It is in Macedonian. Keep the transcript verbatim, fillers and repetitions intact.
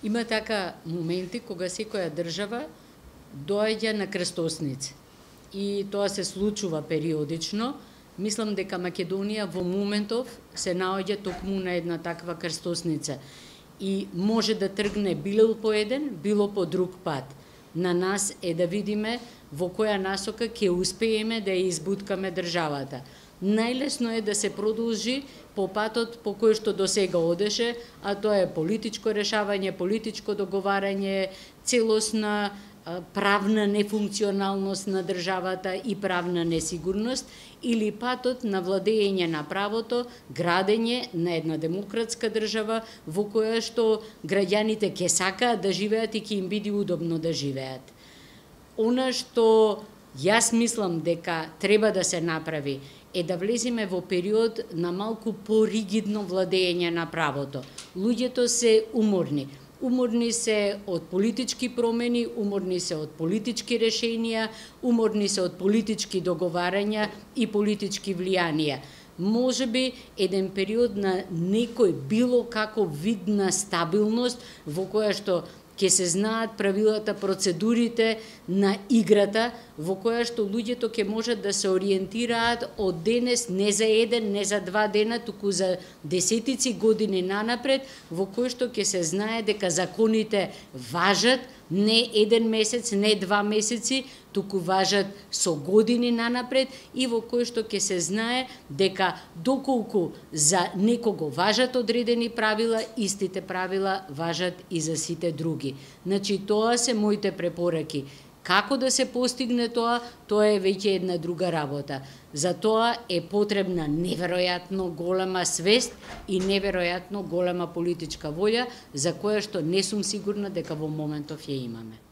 Има така моменти кога секоја држава доаѓа на крстосница. И тоа се случува периодично. Мислам дека Македонија во моментов се наоѓа токму на една таква крстосница. И може да тргне било по еден, било по друг пат. На нас е да видиме во која насока ќе успееме да ја избуткаме државата. Најлесно е да се продолжи по патот по кој што досега одеше, а тоа е политичко решавање, политичко договарање, целосна правна нефункционалност на државата и правна несигурност, или патот на владење на правото, градење на една демократска држава во која што граѓаните ќе сакаат да живеат и ќе им биде удобно да живеат. Она што јас мислам дека треба да се направи е да влеземе во период на малку поригидно владење на правото. Луѓето се уморни. Уморни се од политички промени, уморни се од политички решенија, уморни се од политички договарања и политички влијанија. Можеби еден период на некој било каков вид на стабилност во која што ќе се знаат правилата, процедурите на играта, во која што луѓето ќе можат да се ориентираат од денес не за еден, не за два дена, туку за десетици години нанапред, во кој што ќе се знае дека законите важат не еден месец, не два месеци, туку важат со години нанапред и во кој што ќе се знае дека доколку за некого важат одредени правила, истите правила важат и за сите други. Значи, тоа се моите препораки. Како да се постигне тоа, тоа е веќе една друга работа. За тоа е потребна неверојатно голема свест и неверојатно голема политичка волја, за која што не сум сигурна дека во моментов ја имаме.